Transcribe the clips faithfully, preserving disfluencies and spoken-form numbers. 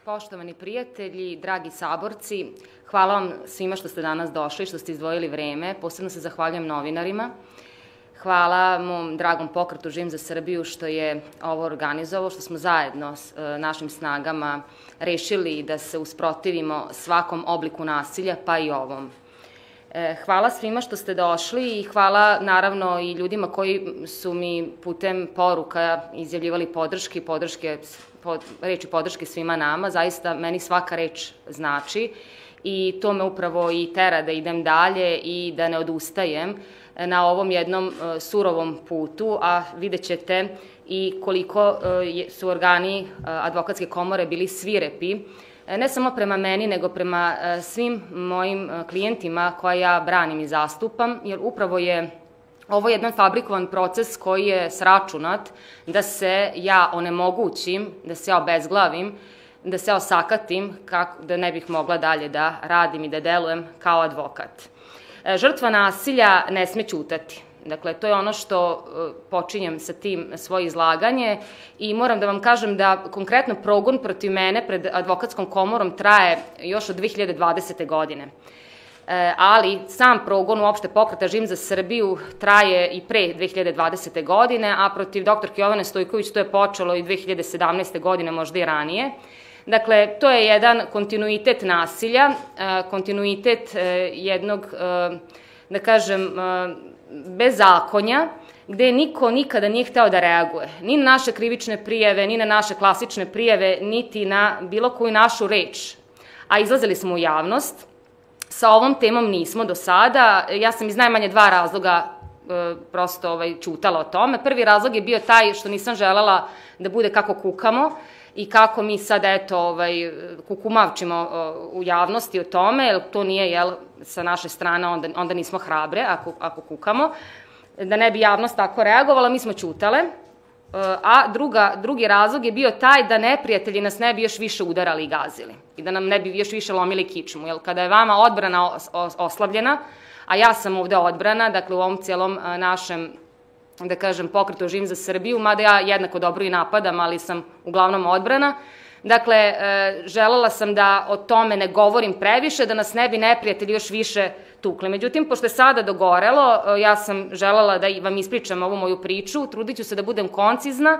Poštovani prijatelji, dragi saborci, hvala vam svima što ste danas došli, što ste izdvojili vreme. Posebno se zahvaljujem novinarima. Hvala mom dragom pokretu Živim za Srbiju što je ovo organizovao, što smo zajedno s našim snagama rešili da se usprotivimo svakom obliku nasilja, pa i ovom. Hvala svima što ste došli i hvala naravno i ljudima koji su mi putem poruka izjavljivali podrške, podrške, reči podrške svima nama. Zaista meni svaka reč znači i to me upravo i tera da idem dalje i da ne odustajem na ovom jednom surovom putu, a vidjet ćete i koliko su organi Advokatske komore bili svirepi, ne samo prema meni, nego prema svim mojim klijentima koje ja branim i zastupam, jer upravo je ovo jedan fabrikovan proces koji je sračunat da se ja onemogućim, da se ja obezglavim, da se ja osakatim, da ne bih mogla dalje da radim i da delujem kao advokat. Žrtva nasilja ne sme ćutati. Dakle, to je ono što počinjem sa tim svoje izlaganje i moram da vam kažem da konkretno progon protiv mene pred Advokatskom komorom traje još od dve hiljade dvadesete. godine. Ali sam progon uopšte pokreta Živim za Srbiju traje i pre dve hiljade dvadesete. godine, a protiv doktorke Jovane Stojković to je počelo i dve hiljade sedamnaeste. godine, možda i ranije. Dakle, to je jedan kontinuitet nasilja, kontinuitet jednog, da kažem, bezakonja, gde niko nikada nije hteo da reaguje. Ni na naše krivične prijave, ni na naše klasične prijave, niti na bilo koju našu reč. A izlazili smo u javnost. Sa ovom temom nismo do sada. Ja sam iz najmanje dva razloga prosto ćutala o tome. Prvi razlog je bio taj što nisam želela da bude kako kukamo i kako mi sad, eto, kukumavčimo u javnosti o tome, jer to nije, jel, sa naše strane, onda nismo hrabre ako kukamo, da ne bi javnost tako reagovala, mi smo ćutale, a drugi razlog je bio taj da neprijatelji nas ne bi još više udarali i gazili i da nam ne bi još više lomili kičmu, jer kada je vama odbrana oslabljena, a ja sam ovde odbrana, dakle u ovom cijelom našem, da kažem, pokretu Živim za Srbiju, mada ja jednako dobro i napadam, ali sam uglavnom odbrana. Dakle, želela sam da o tome ne govorim previše, da nas ne bi neprijatelji još više tukli. Međutim, pošto je sada dogorelo, ja sam želela da vam ispričam ovu moju priču, trudit ću se da budem koncizna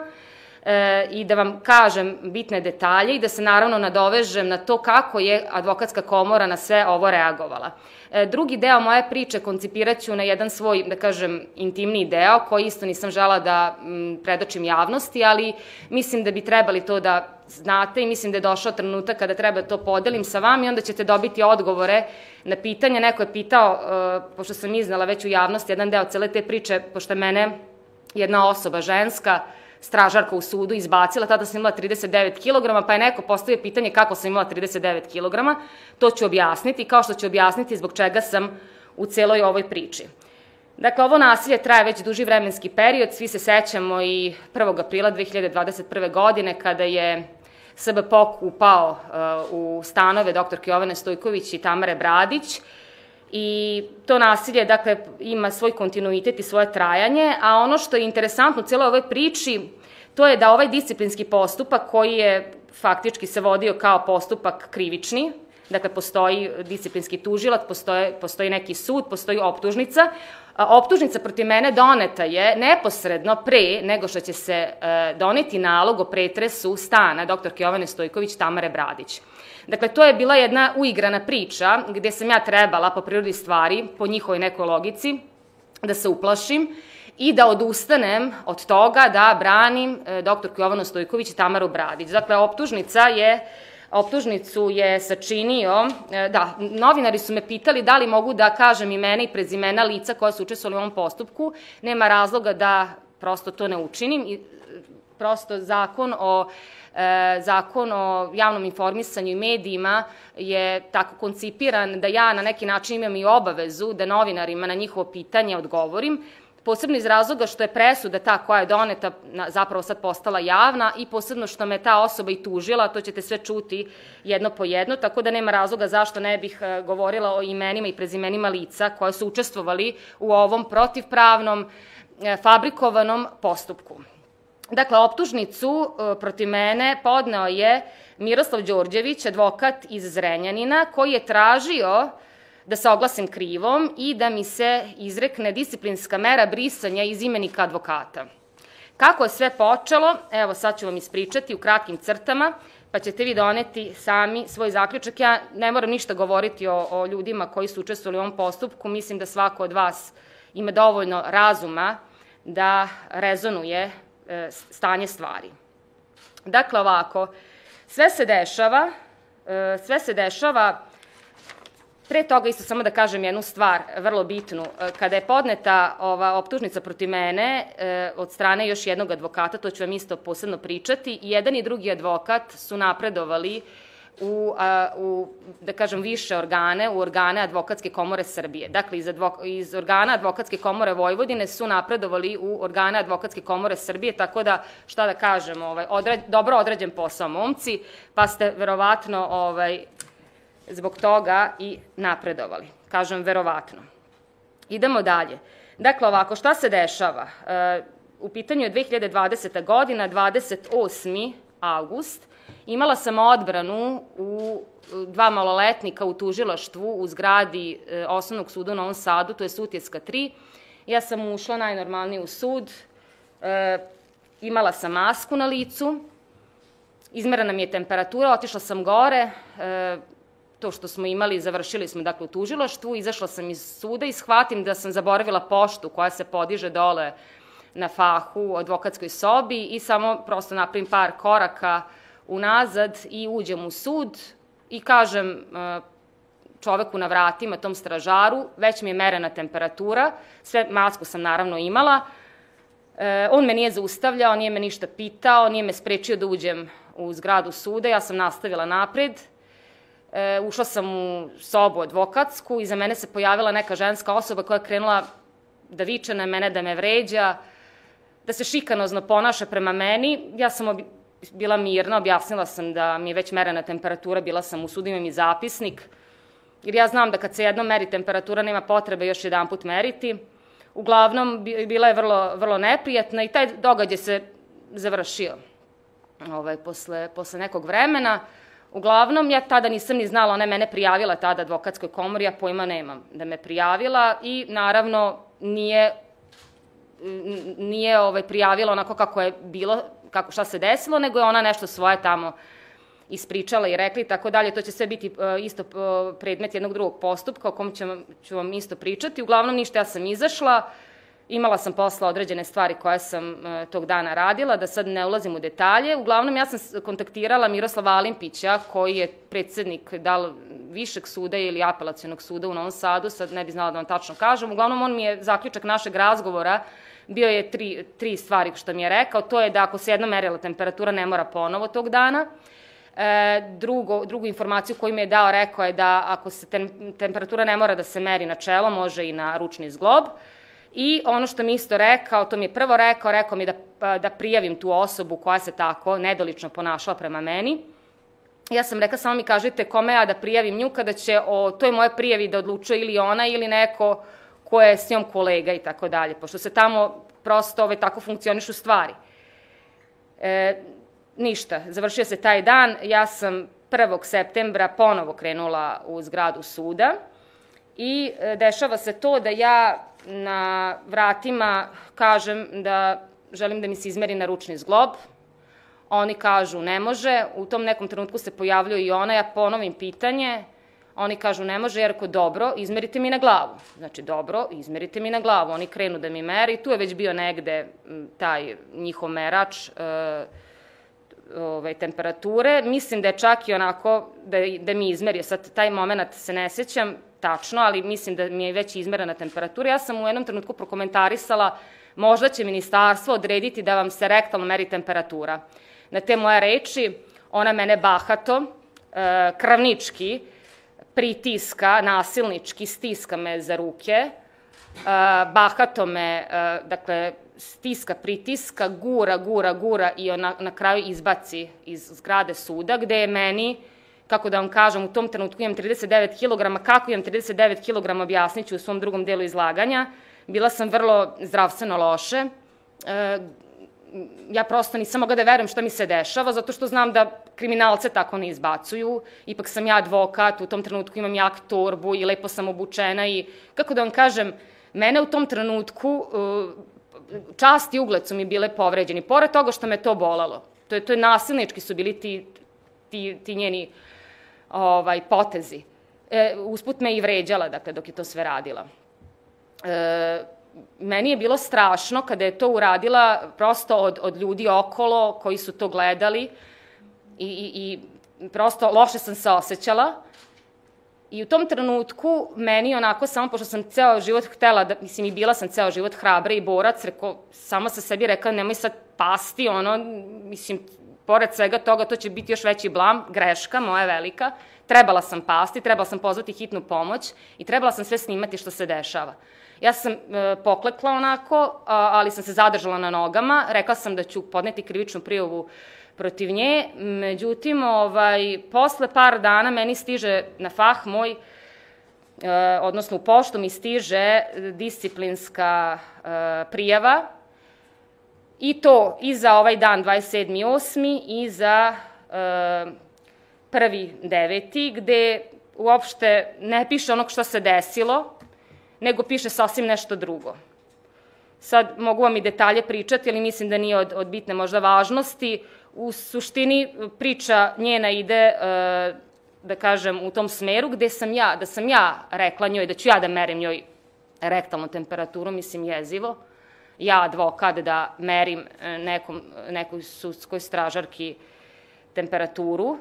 i da vam kažem bitne detalje i da se naravno nadovežem na to kako je Advokatska komora na sve ovo reagovala. Drugi deo moje priče koncipirat ću na jedan svoj, da kažem, intimniji deo, koji isto nisam žela da predočim javnosti, ali mislim da bi trebali to da znate i mislim da je došao trenutak kada treba to podelim sa vama i onda ćete dobiti odgovore na pitanje. Neko je pitao, pošto sam iznala već u javnosti jedan deo cele te priče, pošto je mene jedna osoba, ženska, stražarka u sudu izbacila, tada sam imala trideset devet kilograma, pa je neko postavio pitanje kako sam imala trideset devet kilograma, to ću objasniti, kao što ću objasniti zbog čega sam u celoj ovoj priči. Dakle, ovo nasilje traje već duži vremenski period, svi se sećamo i prvog aprila dve hiljade dvadeset prve. godine kada je S B P O K upao u stanove doktorke Jovane Stojković i Tamare Bradić, i to nasilje, dakle, ima svoj kontinuitet i svoje trajanje, a ono što je interesantno u cijeloj ovoj priči, to je da ovaj disciplinski postupak koji je faktički se vodio kao postupak krivični, dakle, postoji disciplinski tužilac, postoji neki sud, postoji optužnica. Optužnica protiv mene doneta je neposredno pre nego što će se doneti nalog o pretresu stana doktorke Jovane Stojković, Tamare Bradić. Dakle, to je bila jedna uigrana priča gde sam ja trebala po prirodi stvari, po njihovoj nekoj logici, da se uplašim i da odustanem od toga da branim doktorku Jovanu Stojković i Tamaru Bradić. Dakle, optužnica je Optužnicu je sačinio, da, novinari su me pitali da li mogu da kažem imena i prezimena lica koja su učestvovali u ovom postupku. Nema razloga da prosto to ne učinim. Prosto zakon o Zakon o javnom informisanju i medijima je tako koncipiran da ja na neki način imam i obavezu da novinarima na njihovo pitanje odgovorim, posebno iz razloga što je presuda ta koja je doneta zapravo sad postala javna i posebno što me ta osoba i tužila, to ćete sve čuti jedno po jedno, tako da nema razloga zašto ne bih govorila o imenima i prezimenima lica koje su učestvovali u ovom protivpravnom, fabrikovanom postupku. Dakle, optužnicu protiv mene podneo je Miroslav Đorđević, advokat iz Zrenjanina, koji je tražio da se oglasim krivom i da mi se izrekne disciplinska mera brisanja iz imenika advokata. Kako je sve počelo, evo sad ću vam ispričati u kratkim crtama, pa ćete vi doneti sami svoj zaključak. Ja ne moram ništa govoriti o, o ljudima koji su učestvovali u ovom postupku, mislim da svako od vas ima dovoljno razuma da rezonuje e, stanje stvari. Dakle, ovako, sve se dešava, e, sve se dešava. Pre toga isto samo da kažem jednu stvar, vrlo bitnu. Kada je podneta ova optužnica protiv mene od strane još jednog advokata, to ću vam isto posebno pričati, i jedan i drugi advokat su napredovali u, u da kažem, više organe, u organe Advokatske komore Srbije. Dakle, iz, advok, iz organa Advokatske komore Vojvodine su napredovali u organe Advokatske komore Srbije, tako da, šta da kažem, ovaj, odred, dobro odrađen posao, momci, pa ste verovatno ovaj, zbog toga i napredovali. Kažem, verovatno. Idemo dalje. Dakle, ovako, šta se dešava? U pitanju je dve hiljade dvadeseta godina, dvadeset osmi avgust. Imala sam odbranu u dva maloletnika u tužilaštvu u zgradi Osnovnog suda u Novom Sadu, to je Sutjeska tri. Ja sam ušla najnormalnije u sud, imala sam masku na licu, izmerena mi je temperatura, otišla sam gore, to što smo imali, završili smo dakle u tužilaštvu, izašla sam iz suda i shvatim da sam zaboravila poštu koja se podiže dole na fahu u advokatskoj sobi i samo prosto napravim par koraka unazad i uđem u sud i kažem čoveku na vratima, tom stražaru, već mi je merena temperatura, sve masku sam naravno imala, on me nije zaustavljao, nije me ništa pitao, nije me sprečio da uđem u zgradu suda, ja sam nastavila napred. Ušla sam u sobu advokatsku, iza mene se pojavila neka ženska osoba koja je krenula da viče na mene, da me vređa, da se šikanozno ponaša prema meni. Ja sam bila mirna, objasnila sam da mi je već merena temperatura, bila sam u sudu, imam i zapisnik, jer ja znam da kad se jednom meri temperatura nema potrebe još jedan put meriti. Uglavnom, bila je vrlo, vrlo neprijatna i taj događaj se završio ovaj, posle, posle nekog vremena. Uglavnom, ja tada nisam ni znala, ona je mene prijavila tada advokatskoj komori, ja pojma nemam da me prijavila i naravno nije, nije ovaj, prijavila onako kako je bilo, kako, šta se desilo, nego je ona nešto svoje tamo ispričala i rekla i tako dalje. To će sve biti isto predmet jednog drugog postupka o kom ću vam isto pričati. Uglavnom, ništa, ja sam izašla, imala sam posla određene stvari koje sam tog dana radila, da sad ne ulazim u detalje. Uglavnom, ja sam kontaktirala Miroslava Alimpića, koji je predsednik da li Višeg suda ili Apelacionog suda u Novom Sadu, sad ne bi znala da vam tačno kažem. Uglavnom, on mi je, zaključak našeg razgovora, bio je tri, tri stvari što mi je rekao. To je da ako se jednom merila temperatura, ne mora ponovo tog dana. E, drugo, drugu informaciju koju mi je dao, rekao je da ako se tem, temperatura ne mora da se meri na čelo, može i na ručni zglob. I ono što mi isto rekao, to mi je prvo rekao, rekao mi da, da prijavim tu osobu koja se tako nedolično ponašala prema meni. Ja sam rekla, samo mi kažite kome ja da prijavim nju, kada će o toj moje prijavi da odlučuje ili ona ili neko ko je s njom kolega i tako dalje, pošto se tamo prosto ove, tako funkcionišu stvari. E, ništa, završio se taj dan, ja sam prvog septembra ponovo krenula u zgradu suda i e, dešava se to da ja na vratima kažem da želim da mi se izmeri na ručni zglob. Oni kažu ne može, u tom nekom trenutku se pojavljuje i ona, ja ponovim pitanje, oni kažu ne može, jer ako dobro, izmerite mi na glavu. Znači dobro, izmerite mi na glavu. Oni krenu da mi meri, tu je već bio negde taj njihov merač e, ove, temperature. Mislim da je čak i onako da, da mi izmerio, sad taj moment se ne sećam tačno, ali mislim da mi je već izmerena temperatura. Ja sam u jednom trenutku prokomentarisala, možda će ministarstvo odrediti da vam se rektalno meri temperatura. Na te moje reči, ona mene bahato, kravnički, pritiska, nasilnički, stiska me za ruke, bahato me, dakle, stiska, pritiska, gura, gura, gura i ona na kraju izbaci iz zgrade suda, gde je meni, kako da vam kažem, u tom trenutku imam trideset devet kilograma, kako imam trideset devet kilograma objasnit ću u svom drugom delu izlaganja. Bila sam vrlo zdravstveno loše, ja prosto nisam mogla da verujem šta mi se dešava, zato što znam da kriminalce tako ne izbacuju. Ipak sam ja advokat, u tom trenutku imam jak torbu i lepo sam obučena i, kako da vam kažem, mene u tom trenutku, čast i ugled su mi bile povređeni, pored toga što me to bolalo. To je, to je nasilnički su bili ti, ti, ti njeni ovaj, potezi. E, usput me i vređala, dakle, dok je to sve radila. E, meni je bilo strašno kada je to uradila prosto od, od ljudi okolo koji su to gledali i, i, i prosto loše sam se osjećala. I u tom trenutku meni onako, samo pošto sam ceo život htela, da, mislim i bila sam ceo život hrabra i borac, reko, sama sa sebi rekla nemoj sad pasti, ono, mislim, pored svega toga to će biti još veći blam, greška moja velika. Trebala sam pasti, trebala sam pozvati hitnu pomoć i trebala sam sve snimati što se dešava. Ja sam e, poklekla onako, a, ali sam se zadržala na nogama, rekla sam da ću podneti krivičnu prijavu protiv nje, međutim, ovaj, posle par dana meni stiže na fah moj, e, odnosno u poštu mi stiže disciplinska e, prijava i to i za ovaj dan dvadeset sedmi osmi i za e, prvi deveti, gde uopšte ne piše onog što se desilo, nego piše sasvim nešto drugo. Sad mogu vam i detalje pričati, ali mislim da nije od, od bitne možda važnosti. U suštini priča njena ide, e, da kažem, u tom smeru gde sam ja, da sam ja rekla njoj, da ću ja da merim njoj rektalnu temperaturu, mislim jezivo. Ja, advokat, da merim nekom, nekoj sudskoj stražarki temperaturu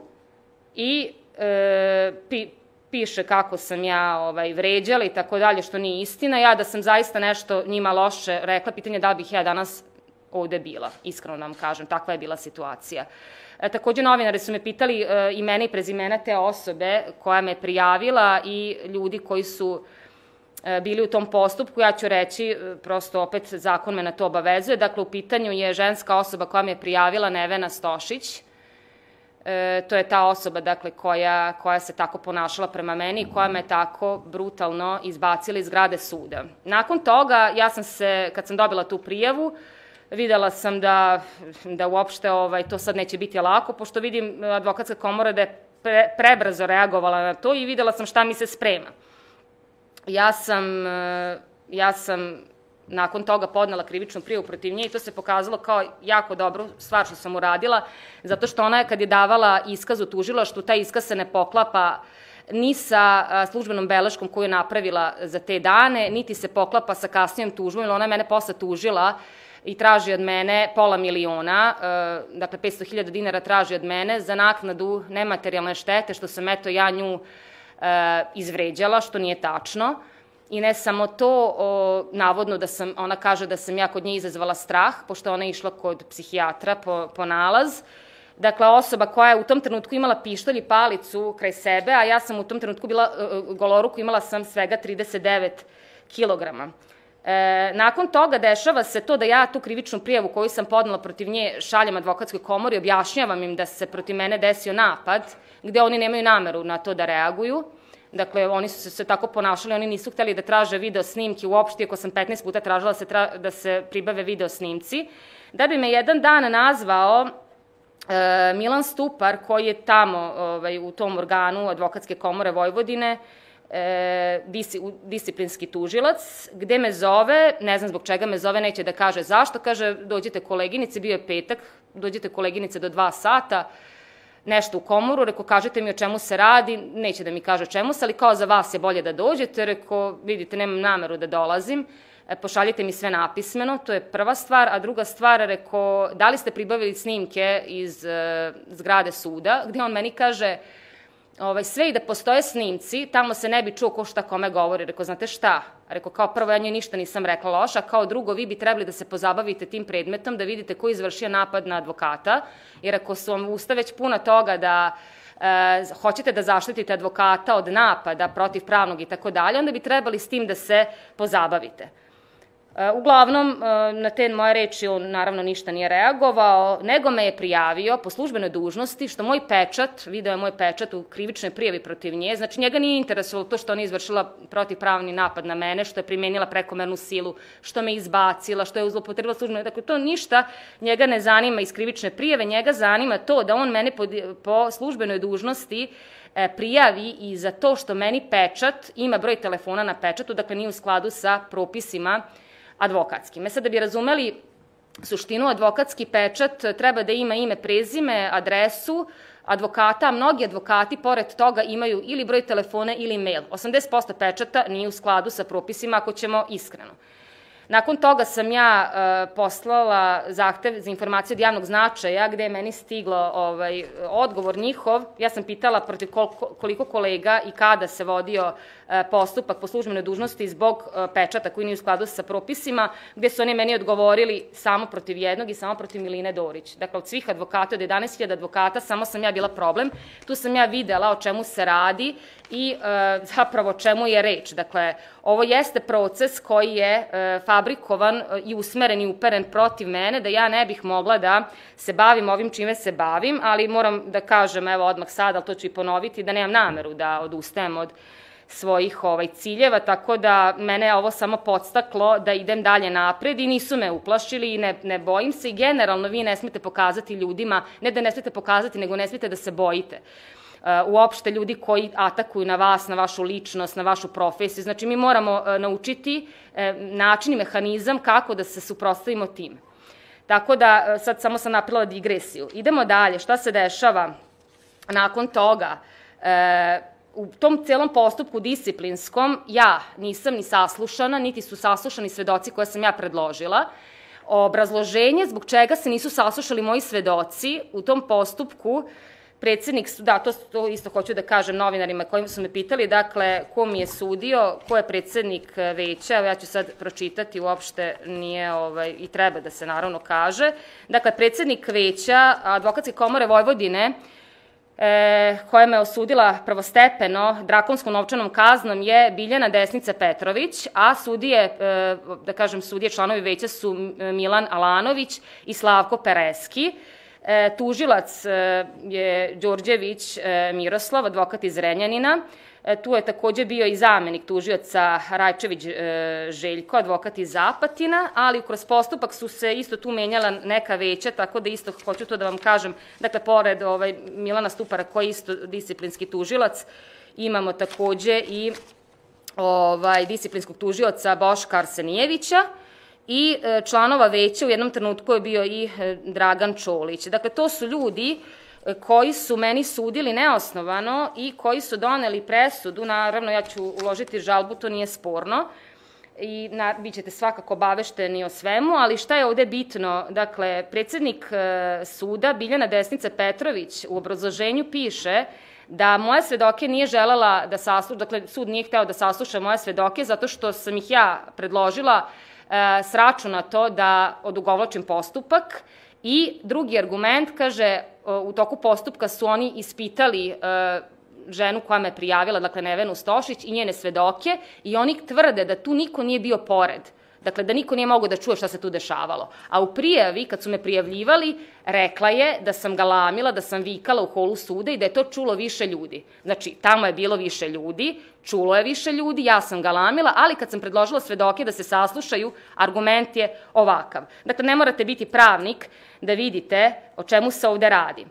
i e, pi, piše kako sam ja ovaj, vređala i tako dalje, što nije istina. Ja da sam zaista nešto njima loše rekla, pitanje da bih ja danas ovde bila, iskreno nam kažem, takva je bila situacija. E, takođe, novinari su me pitali e, imena i prezimena te osobe koja me prijavila i ljudi koji su e, bili u tom postupku. Ja ću reći, e, prosto opet zakon me na to obavezuje. Dakle, u pitanju je ženska osoba koja me prijavila, Nevena Stošić. E, to je ta osoba, dakle, koja, koja se tako ponašala prema meni i koja me tako brutalno izbacila iz zgrade suda. Nakon toga, ja sam se, kad sam dobila tu prijavu, videla sam da, da uopšte ovaj, to sad neće biti lako, pošto vidim advokatska komora da je pre, prebrzo reagovala na to i videla sam šta mi se sprema. Ja sam, ja sam nakon toga podnela krivičnu prijavu protiv nje i to se pokazalo kao jako dobru stvar što sam uradila, zato što ona je kad je davala iskaz u tužilaštvu, taj iskaz se ne poklapa ni sa službenom beleškom koju je napravila za te dane, niti se poklapa sa kasnijom tužbom, jer ona je mene posle tužila i traži od mene pola miliona, dakle petsto hiljada dinara traži od mene za naknadu nematerijalne štete, što sam eto ja nju izvređala, što nije tačno. I ne samo to, o, navodno da sam, ona kaže da sam ja kod nje izazvala strah, pošto ona je išla kod psihijatra po, po nalaz. Dakle, osoba koja je u tom trenutku imala pištolj i palicu kraj sebe, a ja sam u tom trenutku bila uh, goloruku, imala sam svega trideset devet kilograma. E, nakon toga dešava se to da ja tu krivičnu prijavu koju sam podnela protiv nje šaljem advokatskoj komori, objašnjavam im da se protiv mene desio napad, gde oni nemaju nameru na to da reaguju. Dakle, oni su se tako ponašali, oni nisu hteli da traže video snimke uopšte, ako sam petnaest puta tražila da se, tra, da se pribave video snimci, da bi me jedan dan nazvao e, Milan Stupar, koji je tamo ovaj, u tom organu Advokatske komore Vojvodine, e, dis, disciplinski tužilac, gde me zove, ne znam zbog čega me zove, neće da kaže zašto, kaže dođite koleginice, bio je petak, dođite koleginice do dva sata, nešto u komoru, reko, kažete mi o čemu se radi, neće da mi kaže o čemu se, ali kao za vas je bolje da dođete, reko, vidite, nemam nameru da dolazim, pošaljite mi sve napismeno, to je prva stvar, a druga stvar, reko, da li ste pribavili snimke iz uh, zgrade suda, gde on meni kaže, ovaj, sve i da postoje snimci, tamo se ne bi čuo ko šta kome govori, reko, znate šta, reko, kao prvo, ja njoj ništa nisam rekla loša, kao drugo, vi bi trebali da se pozabavite tim predmetom, da vidite ko je izvršio napad na advokata, jer ako su vam usta već puna toga da e, hoćete da zaštitite advokata od napada protivpravnog i tako dalje, onda bi trebali s tim da se pozabavite. Uglavnom, na te moje reči on naravno ništa nije reagovao, nego me je prijavio po službenoj dužnosti, što moj pečat, video je moj pečat u krivičnoj prijavi protiv nje, znači njega nije interesovalo to što ona izvršila protivpravni napad na mene, što je primenila prekomernu silu, što me izbacila, što je zloupotrebila službeno, dakle to ništa njega ne zanima iz krivične prijave, njega zanima to da on mene po službenoj dužnosti prijavi i za to što meni pečat, ima broj telefona na pečatu, dakle nije u skladu sa propisima advokatskim. E sad, da bi razumeli suštinu, advokatski pečat treba da ima ime, prezime, adresu advokata, a mnogi advokati pored toga imaju ili broj telefona ili mail. osamdeset posto pečata nije u skladu sa propisima, ako ćemo iskreno. Nakon toga sam ja poslala zahtev za informacije od javnog značaja, gde je meni stiglo odgovor njihov. Ja sam pitala protiv koliko kolega i kada se vodio postupak po službenoj dužnosti zbog pečata koji nije u skladu sa propisima, gde su oni meni odgovorili samo protiv jednog i samo protiv Miline Dorić. Dakle, od svih advokata, od jedanaest hiljada advokata, samo sam ja bila problem. Tu sam ja videla o čemu se radi i zapravo o čemu je reč. Dakle, ovo jeste proces koji je fabrikovan i usmeren i uperen protiv mene, da ja ne bih mogla da se bavim ovim čime se bavim, ali moram da kažem, evo odmah sad, ali to ću i ponoviti, da nemam nameru da odustajem od svojih ciljeva, tako da mene je ovo samo podstaklo da idem dalje napred i nisu me uplašili i ne bojim se i generalno vi ne smete pokazati ljudima, ne da ne smete pokazati, nego ne smete da se bojite. Uopšte ljudi koji atakuju na vas, na vašu ličnost, na vašu profesiju. Znači, mi moramo naučiti način i mehanizam kako da se suprotstavimo tim. Tako da, sad samo sam napravila digresiju. Idemo dalje, šta se dešava nakon toga? U tom celom postupku disciplinskom ja nisam ni saslušana, niti su saslušani svedoci koje sam ja predložila. Obrazloženje zbog čega se nisu saslušali moji svedoci u tom postupku, predsednik, da, to isto hoću da kažem novinarima kojim su me pitali, dakle, ko mi je sudio, ko je predsednik veća, ja ću sad pročitati, uopšte nije i treba da se naravno kaže. Dakle, predsednik veća Advokatske komore Vojvodine, koja me osudila prvostepeno drakonskom novčanom kaznom, je Biljana Desnica Petrović, a sudije, da kažem, sudije članovi veća su Milan Alanović i Slavko Pereski. Tužilac je Đorđević Miroslav, advokat iz Renjanina. Tu je takođe bio i zamenik tužioca Rajčević Željko, advokat iz Apatina, ali kroz postupak su se isto tu menjala neka veća, tako da isto hoću to da vam kažem, dakle, pored Milana Stupara, koji je isto disciplinski tužilac, imamo takođe i disciplinskog tužioca Boška Arsenijevića, i članova veća u jednom trenutku je bio i Dragan Čolić. Dakle, to su ljudi koji su meni sudili neosnovano i koji su doneli presudu, naravno ja ću uložiti žalbu, to nije sporno, i bit ćete svakako obavešteni o svemu, ali šta je ovde bitno? Dakle, predsednik suda Biljana Desnica Petrović u obrazloženju piše da moje svedoke nije želela da sasluša, dakle, sud nije hteo da sasluša moje svedoke zato što sam ih ja predložila sračunato da odugovlačim postupak. I drugi argument, kaže, u toku postupka su oni ispitali ženu koja me prijavila, dakle Nevenu Stošić i njene svedoke, i oni tvrde da tu niko nije bio pored. Dakle, da niko nije mogao da čuje šta se tu dešavalo. A u prijavi, kad su me prijavljivali, rekla je da sam galamila, da sam vikala u holu suda i da je to čulo više ljudi. Znači, tamo je bilo više ljudi, čulo je više ljudi, ja sam galamila, ali kad sam predložila svedoke da se saslušaju, argument je ovakav. Dakle, ne morate biti pravnik da vidite o čemu se ovde radi.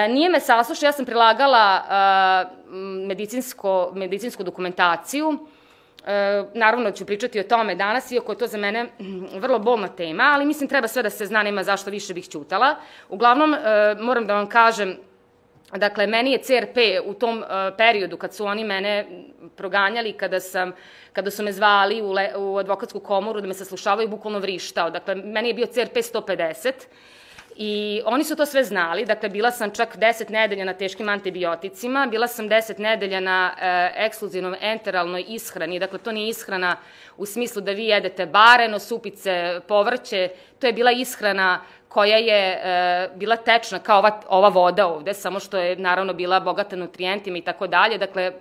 Nije me saslušao, ja sam prilagala medicinsku dokumentaciju. Naravno ću pričati o tome danas, iako je to za mene vrlo bolna tema, ali mislim treba sve da se zna, nema zašto više bih ćutala. Uglavnom, moram da vam kažem, dakle, meni je C R P u tom periodu kad su oni mene proganjali, kada su me zvali u advokatsku komoru da me saslušavaju, bukvalno vrištao. Dakle, meni je bio C R P sto pedeset I oni su to sve znali, dakle bila sam čak deset nedelja na teškim antibioticima, bila sam deset nedelja na e, ekskluzivnom enteralnoj ishrani, dakle to nije ishrana u smislu da vi jedete bareno, supice, povrće, to je bila ishrana koja je e, bila tečna kao ova, ova voda ovde, samo što je naravno bila bogata nutrijentima i tako dalje, dakle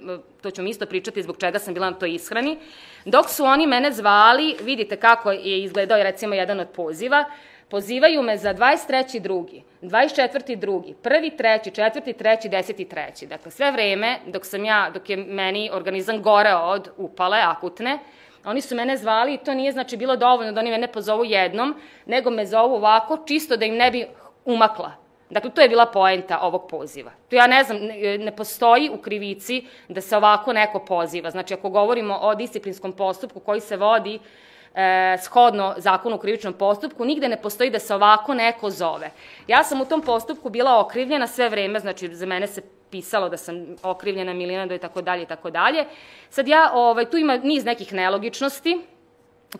to ću mi isto pričati zbog čega sam bila na toj ishrani. Dok su oni mene zvali, vidite kako je izgledao recimo jedan od poziva, pozivaju me za dvadeset treći drugi, dvadeset četvrti drugi, prvi treći, četvrti treći, deseti treći. Dakle, sve vreme dok sam ja, dok je meni organizam goreo od upale akutne, oni su mene zvali i to nije znači bilo dovoljno da oni mene pozovu jednom, nego me zovu ovako, čisto da im ne bi umakla. Dakle, to je bila poenta ovog poziva. To ja ne znam, ne postoji u krivici da se ovako neko poziva. Znači, ako govorimo o disciplinskom postupku koji se vodi E, shodno zakonu o krivičnom postupku, nigde ne postoji da se ovako neko zove. Ja sam u tom postupku bila okrivljena sve vreme, znači za mene se pisalo da sam okrivljena Milinado i tako dalje i tako dalje. Sad ja, ovaj, tu ima niz nekih nelogičnosti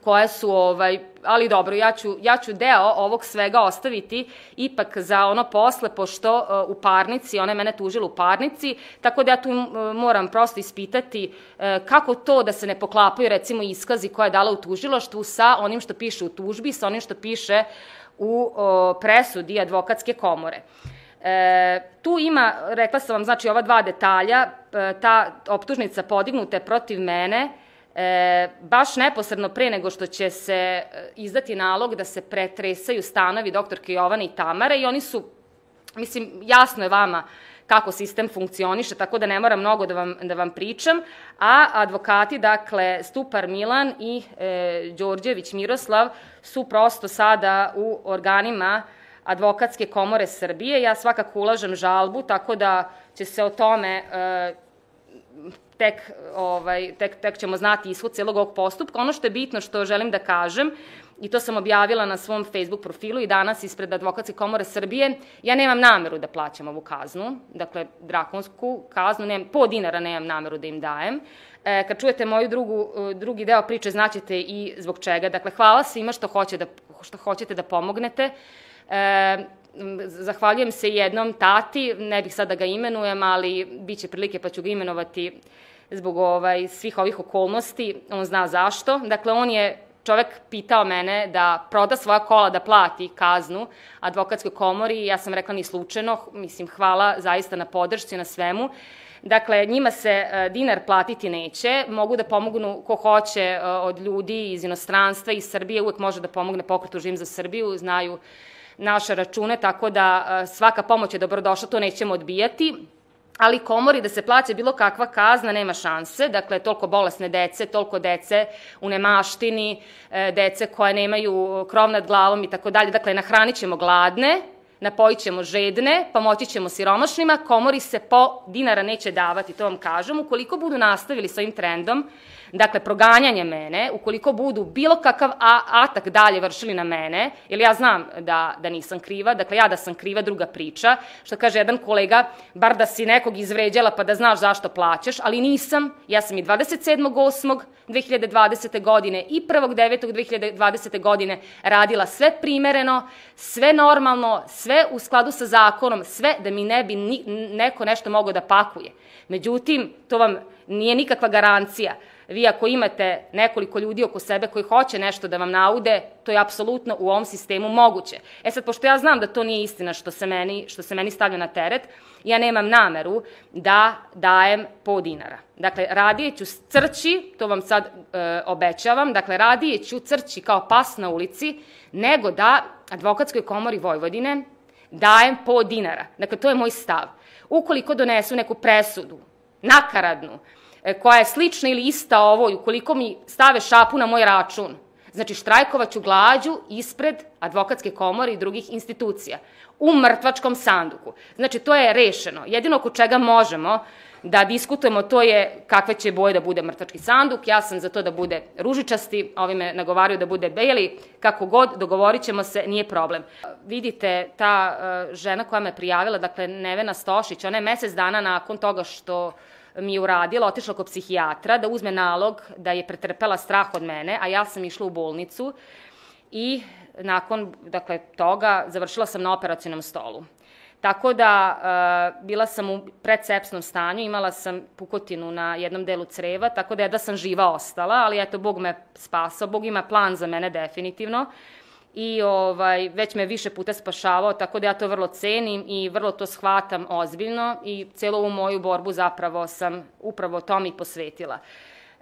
koje su, ovaj, ali dobro, ja ću, ja ću deo ovog svega ostaviti ipak za ono posle, pošto uh, u parnici, ona je mene tužila u parnici, tako da ja tu uh, moram prosto ispitati uh, kako to da se ne poklapaju recimo iskazi koje je dala u tužilaštvu sa onim što piše u tužbi, sa onim što piše u uh, presudi advokatske komore. E, tu ima, rekla sam vam, znači ova dva detalja, ta optužnica podignuta je protiv mene, E, baš neposredno pre nego što će se izdati nalog da se pretresaju stanovi doktorke Jovane i Tamare i oni su, mislim, jasno je vama kako sistem funkcioniše, tako da ne moram mnogo da vam, da vam pričam, a advokati, dakle, Stupar Milan i e, Đorđević Miroslav su prosto sada u organima Advokatske komore Srbije. Ja svakako ulažem žalbu, tako da će se o tome e, Tek, ovaj, tek, tek ćemo znati ishod celog ovog postupka. Ono što je bitno, što želim da kažem, i to sam objavila na svom Facebook profilu i danas ispred Advokatske komore Srbije, ja nemam nameru da plaćam ovu kaznu, dakle, drakonsku kaznu, nemam, po dinara nemam nameru da im dajem. E, kad čujete moju drugu, drugi deo priče, znaćete i zbog čega. Dakle, hvala svima što, hoće da, što hoćete da pomognete. E, Zahvaljujem se jednom tati, ne bih sad da ga imenujem, ali bit će prilike pa ću ga imenovati zbog ovaj, svih ovih okolnosti, on zna zašto. Dakle, on je čovek pitao mene da proda svoja kola, da plati kaznu advokatskoj komori i ja sam rekla ni slučajno, mislim, hvala zaista na podršci, na svemu. Dakle, njima se dinar platiti neće, mogu da pomognu ko hoće od ljudi iz inostranstva, iz Srbije, uvek može da pomogne Pokretu Živim za Srbiju, znaju naše račune, tako da svaka pomoć je dobrodošla, to nećemo odbijati, ali komori da se plaća bilo kakva kazna nema šanse, dakle, toliko bolesne dece, toliko dece u nemaštini, dece koje nemaju krov nad glavom i tako dalje, dakle, nahranit ćemo gladne, napojit ćemo žedne, pomoći ćemo siromašnima, komori se po dinara neće davati, to vam kažem, ukoliko budu nastavili s ovim trendom, dakle, proganjanje mene, ukoliko budu bilo kakav atak dalje vršili na mene, jer ja znam da, da nisam kriva, dakle, ja da sam kriva, druga priča, što kaže jedan kolega, bar da si nekog izvređala pa da znaš zašto plaćaš, ali nisam, ja sam i dvadeset sedmog osmog dve hiljade dvadesete godine i prvog devetog dve hiljade dvadesete godine radila sve primereno, sve normalno, sve u skladu sa zakonom, sve da mi ne bi ni, neko nešto mogao da pakuje. Međutim, to vam nije nikakva garancija. Vi ako imate nekoliko ljudi oko sebe koji hoće nešto da vam naude, to je apsolutno u ovom sistemu moguće. E sad, pošto ja znam da to nije istina što se meni, što se meni stavlja na teret, ja nemam nameru da dajem po dinara. Dakle, radije ću crći, to vam sad e, obećavam, dakle, radije ću crći kao pas na ulici, nego da Advokatskoj komori Vojvodine dajem po dinara. Dakle, to je moj stav. Ukoliko donesu neku presudu, nakaradnu, koja je slična ili ista ovoj, ukoliko mi stave šapu na moj račun, znači štrajkovaću glađu ispred Advokatske komore i drugih institucija, u mrtvačkom sanduku. Znači, to je rešeno. Jedino oko čega možemo da diskutujemo, to je kakve će boje da bude mrtvački sanduk. Ja sam za to da bude ružičasti, ovi me nagovaraju da bude beli, kako god, dogovorit ćemo se, nije problem. Vidite, ta uh, žena koja me prijavila, dakle, Nevena Stošić, ona je mesec dana nakon toga što mi je uradila, otišla kod psihijatra da uzme nalog da je pretrpela strah od mene, a ja sam išla u bolnicu i nakon dakle, toga završila sam na operacionom stolu. Tako da bila sam u predsepsnom stanju, imala sam pukotinu na jednom delu creva, tako da je da sam živa ostala, ali eto, Bog me spasao, Bog ima plan za mene definitivno i ovaj, već me više puta spašavao, tako da ja to vrlo cenim i vrlo to shvatam ozbiljno i celu ovu moju borbu zapravo sam upravo tom i posvetila.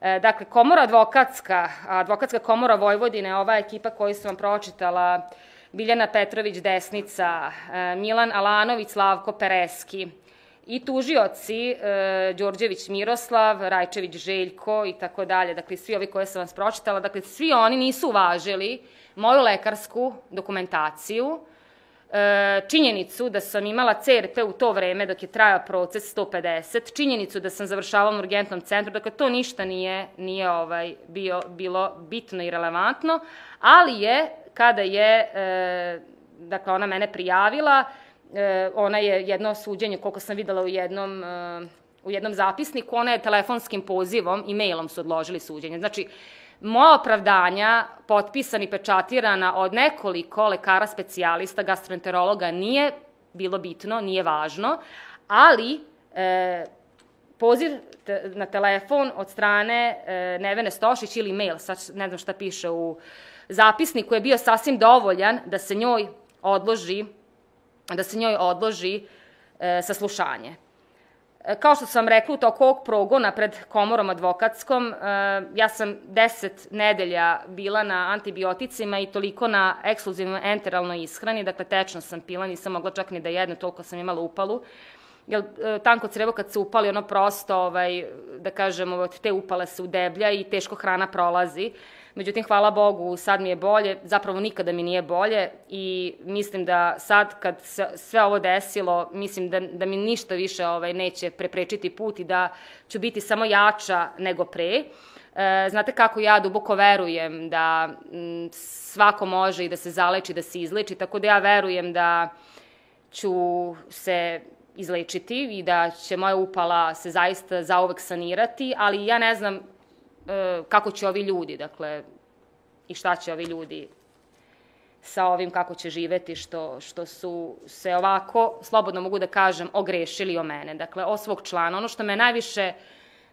Dakle, komora advokatska, advokatska komora Vojvodine, ova ekipa koju sam vam pročitala, Biljana Petrović Desnica, Milan Alanović, Slavko Pereski i tužioci Đorđević Miroslav, Rajčević Željko i tako dalje, dakle svi ovi koje sam vas pročitala, dakle svi oni nisu uvažili moju lekarsku dokumentaciju, činjenicu da sam imala C R P u to vreme dok je trajao proces sto pedeset, činjenicu da sam završavala u urgentnom centru, dakle to ništa nije, nije ovaj, bio, bilo bitno i relevantno, ali je, kada je, e, dakle ona mene prijavila, e, ona je jedno suđenje, koliko sam videla u jednom, e, u jednom zapisniku, ona je telefonskim pozivom i mailom su odložili suđenje. Znači, moja opravdanja, potpisana i pečatirana od nekoliko lekara specijalista, gastroenterologa, nije bilo bitno, nije važno, ali e, poziv te, na telefon od strane e, Nevene Stošić ili mail, sad ne znam šta piše u zapisniku, je bio sasvim dovoljan da se njoj odloži, da se njoj odloži e, saslušanje. Kao što sam rekla, u toku ovog progona pred komorom advokatskom, ja sam deset nedelja bila na antibioticima i toliko na ekskluzivnoj enteralnoj ishrani, dakle tečno sam pila, nisam mogla čak ni da jedne, toliko sam imala upalu, jer tanko crevo kad se upali, ono prosto, ovaj, da kažem, od te upale se udeblja i teško hrana prolazi. Međutim, hvala Bogu, sad mi je bolje, zapravo nikada mi nije bolje i mislim da sad kad se sve ovo desilo, mislim da, da mi ništa više ovaj, neće preprečiti put i da ću biti samo jača nego pre. E, znate kako ja duboko verujem da m, svako može i da se zaleči, da se izleči, tako da ja verujem da ću se izlečiti i da će moja upala se zaista zauvek sanirati, ali ja ne znam kako će ovi ljudi, dakle, i šta će ovi ljudi sa ovim, kako će živeti, što, što su se ovako, slobodno mogu da kažem, ogrešili o mene. Dakle, o svog člana. Ono što me najviše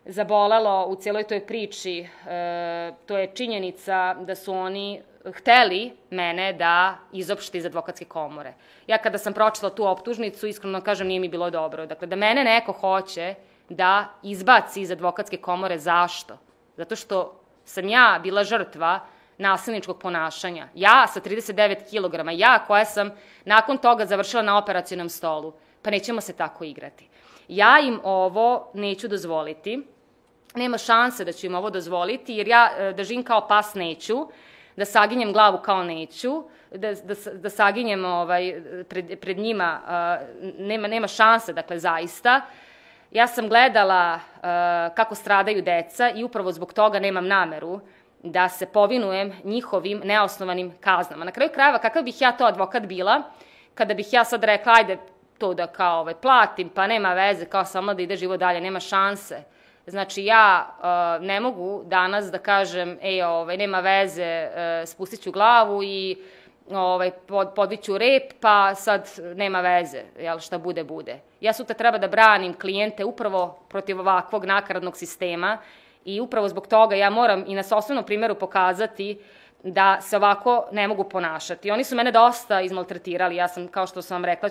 zabolelo u cijeloj toj priči, e, to je činjenica da su oni hteli mene da izopšte iz advokatske komore. Ja kada sam pročitala tu optužnicu, iskreno kažem, nije mi bilo dobro. Dakle, da mene neko hoće da izbaci iz advokatske komore, zašto? Zato što sam ja bila žrtva nasilničkog ponašanja. Ja sa trideset devet kilograma, ja koja sam nakon toga završila na operacionom stolu. Pa nećemo se tako igrati. Ja im ovo neću dozvoliti. Nema šanse da ću im ovo dozvoliti, jer ja da živim kao pas neću, da saginjem glavu kao neću, da, da, da saginjem ovaj, pred, pred njima, nema, nema šanse, dakle, zaista. Ja sam gledala uh, kako stradaju deca i upravo zbog toga nemam nameru da se povinujem njihovim neosnovanim kaznama. Na kraju krajeva, kakav bih ja to advokat bila, kada bih ja sad rekla, ajde to da kao ovaj, platim, pa nema veze, kao samo da ide život dalje, nema šanse. Znači, ja uh, ne mogu danas da kažem, ej, ovaj, nema veze, uh, spustit ću glavu i ovaj, pod, podviću rep, pa sad nema veze, jel, šta bude, bude. Ja sutra treba da branim klijente upravo protiv ovakvog nakaradnog sistema i upravo zbog toga ja moram i na sopstvenom primjeru pokazati da se ovako ne mogu ponašati. Oni su mene dosta izmaltretirali, ja sam, kao što sam vam rekla,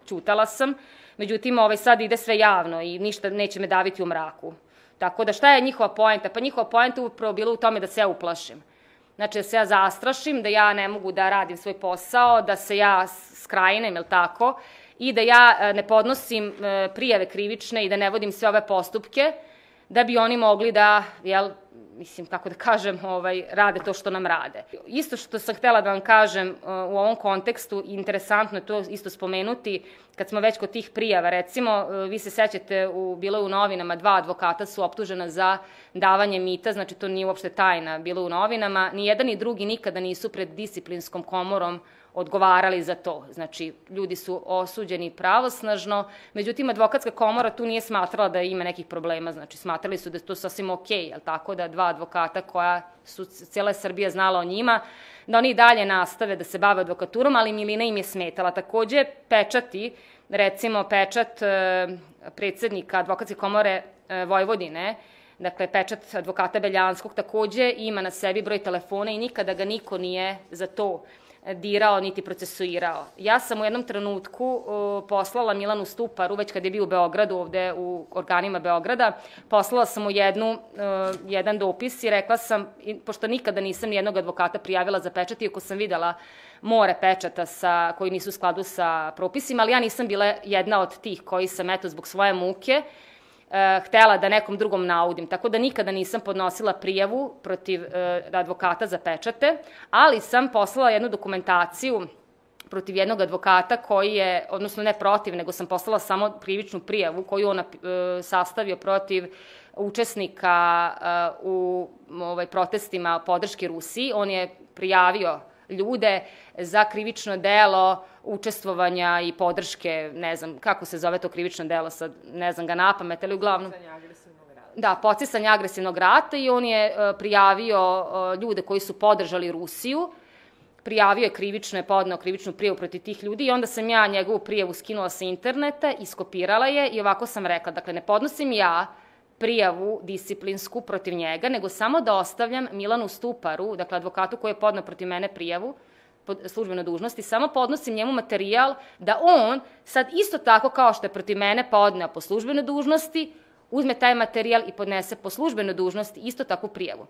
ćutala sam, međutim, ovaj, sad ide sve javno i ništa neće me daviti u mraku. Tako da šta je njihova poenta? Pa njihova poenta upravo bila u tome da se ja uplašim. Znači, da se ja zastrašim, da ja ne mogu da radim svoj posao, da se ja skrajinem, jel tako, i da ja ne podnosim prijave krivične i da ne vodim sve ove postupke, da bi oni mogli da, jel, mislim, kako da kažem, ovaj, rade to što nam rade. Isto što sam htela da vam kažem u ovom kontekstu, interesantno je to isto spomenuti, kad smo već kod tih prijava, recimo, vi se sećate, u, bilo je u novinama, dva advokata su optužena za davanje mita, znači to nije uopšte tajna, bilo u novinama, ni jedan ni drugi nikada nisu pred disciplinskom komorom odgovarali za to. Znači, ljudi su osuđeni pravosnažno, međutim, advokatska komora tu nije smatrala da ima nekih problema, znači, smatrali su da je to sasvim okej, jel tako, da dva advokata koja su cijela Srbija znala o njima, da oni dalje nastave da se bave advokaturom, ali milina im je smetala. Takođe, pečati, recimo pečat predsednika advokatske komore Vojvodine, dakle, pečat advokata Beljanskog, takođe ima na sebi broj telefona i nikada ga niko nije za to dirao niti procesuirao. Ja sam u jednom trenutku poslala Milanu Stuparu, već kad je bio u Beogradu, ovde u organima Beograda, poslala sam mu jednu, jedan dopis i rekla sam, pošto nikada nisam nijednog advokata prijavila za pečat, iako sam videla more pečata sa, koji nisu u skladu sa propisima, ali ja nisam bila jedna od tih koji sam, eto, zbog svoje muke, htela da nekom drugom naudim. Tako da nikada nisam podnosila prijavu protiv advokata za pečate, ali sam poslala jednu dokumentaciju protiv jednog advokata koji je, odnosno ne protiv, nego sam poslala samo krivičnu prijavu koju on sastavio protiv učesnika u protestima podrške Rusiji. On je prijavio ljude za krivično delo učestvovanja i podrške, ne znam, kako se zove to krivično delo, sad ne znam ga napamet, ali uglavnom... Podsticanje agresivnog rata. Da, podsticanje agresivnog rata i on je prijavio ljude koji su podržali Rusiju, prijavio je krivično, je podneo krivičnu prijavu protiv tih ljudi i onda sam ja njegovu prijavu skinula sa interneta, iskopirala je i ovako sam rekla, dakle, ne podnosim ja prijavu disciplinsku protiv njega, nego samo da ostavljam Milanu Stuparu, dakle, advokatu koji je podneo protiv mene prijavu, po službenoj dužnosti, samo podnosim njemu materijal da on sad isto tako kao što je protiv mene podneo po službenoj dužnosti, uzme taj materijal i podnese po službenoj dužnosti isto takvu prijavu.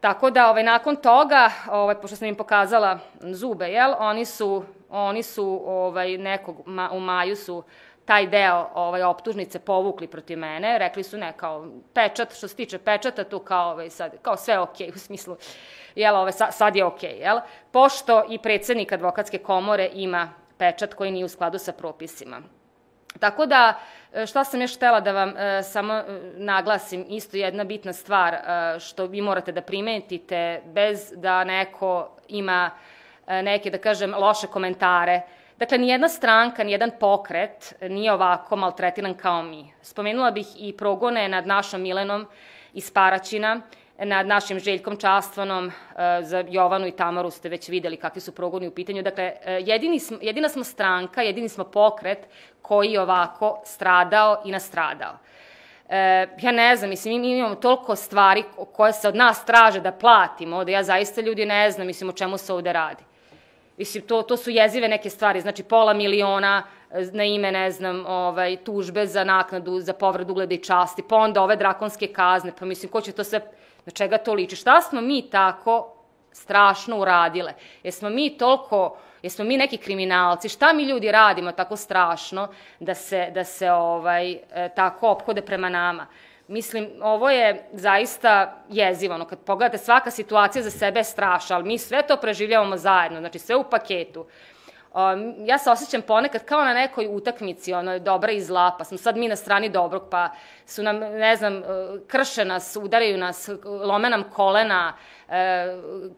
Tako da, ovaj, nakon toga, ovaj, pošto sam im pokazala zube, jel, oni su, oni su ovaj, nekog, ma, u maju su taj deo ovaj, optužnice povukli protiv mene, rekli su ne, kao pečat, što se tiče pečata, tu kao, ovaj, sad, kao sve okej, u smislu, jel, ovaj, sad je okej, jel, pošto i predsednik advokatske komore ima pečat koji nije u skladu sa propisima. Tako da, šta sam još htela da vam e, samo e, naglasim, isto jedna bitna stvar e, što vi morate da primetite bez da neko ima e, neke, da kažem, loše komentare. Dakle, nijedna stranka, nijedan pokret nije ovako maltretiran kao mi. Spomenula bih i progone nad našom Milenom iz Paraćina, nad našim Željkom Častvanom, za Jovanu i Tamaru ste već videli kakvi su progoni u pitanju. Dakle, jedini smo, jedina smo stranka, jedini smo pokret koji je ovako stradao i nastradao. E, ja ne znam, mislim, mi imamo toliko stvari koje se od nas traže da platimo, da ja zaista ljudi ne znam, mislim, o čemu se ovde radi. Mislim, to, to su jezive neke stvari, znači pola miliona na ime, ne znam, ovaj, tužbe za naknadu, za povredu ugleda i časti, pa onda ove drakonske kazne, pa mislim, ko će to sve, na čega to liči? Šta smo mi tako strašno uradile? Jesmo mi toliko, jesmo mi neki kriminalci? Šta mi ljudi radimo tako strašno da se, da se ovaj, tako ophode prema nama? Mislim, ovo je zaista jezivo. Kad pogledate, svaka situacija za sebe je strašna, ali mi sve to preživljavamo zajedno, znači sve u paketu. Ja se osjećam ponekad kao na nekoj utakmici, ono, dobra i zla, pa smo sad mi na strani dobrog, pa su nam, ne znam, krše nas, udaraju nas, lome nam kolena,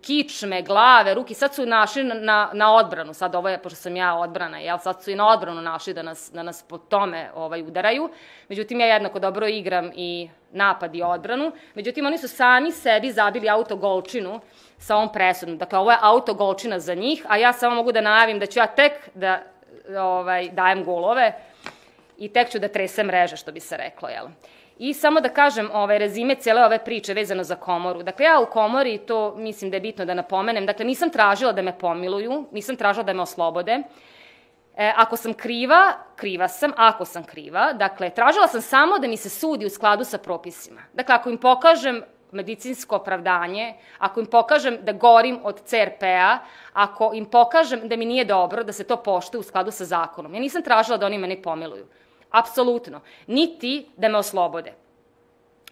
kičme, glave, ruki, sad su našli na, na odbranu, sad ovo je, pošto sam ja odbrana, jel, sad su i na odbranu našli da nas, da nas po tome ovaj, udaraju, međutim ja jednako dobro igram i napad i odbranu, međutim oni su sami sebi zabili autogolčinu sa ovom presudom, dakle ovo je autogolčina za njih, a ja samo mogu da najavim da ću ja tek da ovaj, dajem golove i tek ću da tresem mreže, što bi se reklo, jel? I samo da kažem ovaj, rezime cijele ove priče vezano za komoru. Dakle, ja u komori, to mislim da je bitno da napomenem, dakle, nisam tražila da me pomiluju, nisam tražila da me oslobode. E, ako sam kriva, kriva sam, ako sam kriva, dakle, tražila sam samo da mi se sudi u skladu sa propisima. Dakle, ako im pokažem medicinsko opravdanje, ako im pokažem da gorim od C R P-a, ako im pokažem da mi nije dobro, da se to poštuje u skladu sa zakonom. Ja nisam tražila da oni mene pomiluju. Apsolutno. Niti da me oslobode.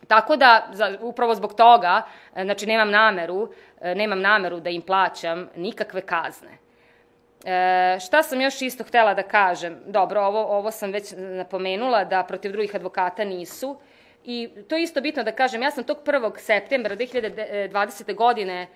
Tako da, upravo zbog toga, znači, nemam nameru, nemam nameru da im plaćam nikakve kazne. E, šta sam još isto htela da kažem? Dobro, ovo, ovo sam već napomenula, da protiv drugih advokata nisu. I to je isto bitno da kažem, ja sam tog prvog septembra dve hiljade dvadesete godine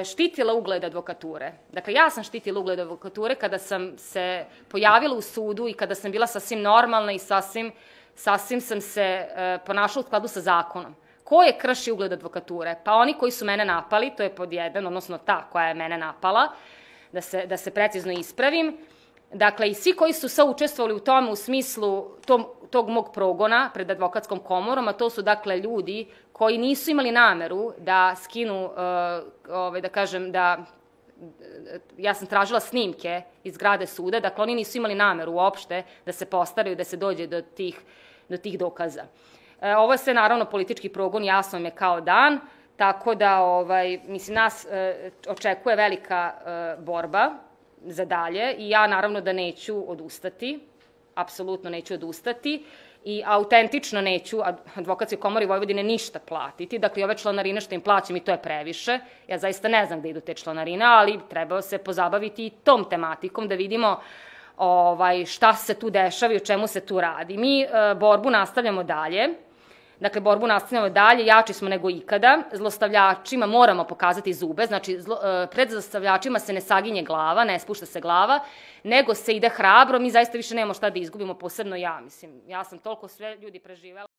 štitila ugled advokature. Dakle, ja sam štitila ugled advokature kada sam se pojavila u sudu i kada sam bila sasvim normalna i sasvim, sasvim sam se ponašala u skladu sa zakonom. Ko je krši ugled advokature? Pa oni koji su mene napali, to je pod jedan, odnosno ta koja je mene napala, da se, da se precizno ispravim. Dakle, i svi koji su saučestvovali u tome u smislu tom, tog mog progona pred advokatskom komorom, a to su dakle ljudi koji nisu imali nameru da skinu, uh, ovaj, da kažem, da ja sam tražila snimke iz zgrade suda, dakle oni nisu imali nameru uopšte da se postaraju, da se dođe do tih, do tih dokaza. E, ovo je sve naravno politički progon, jasno im je kao dan, tako da, ovaj, mislim, nas e, očekuje velika e, borba za dalje i ja naravno da neću odustati, apsolutno neću odustati i autentično neću Advokatskoj komori Vojvodine ništa platiti. Dakle, ove članarine što im plaćam i to je previše. Ja zaista ne znam gde idu te članarine, ali treba se pozabaviti i tom tematikom da vidimo ovaj, šta se tu dešava i o čemu se tu radi. Mi e, borbu nastavljamo dalje. Dakle, borbu nastavljamo dalje, jači smo nego ikada. Zlostavljačima moramo pokazati zube, znači zlo, pred zlostavljačima se ne saginje glava, ne spušta se glava, nego se ide hrabro. Mi zaista više nemamo šta da izgubimo, posebno ja, mislim. Ja sam toliko sve ljudi preživela.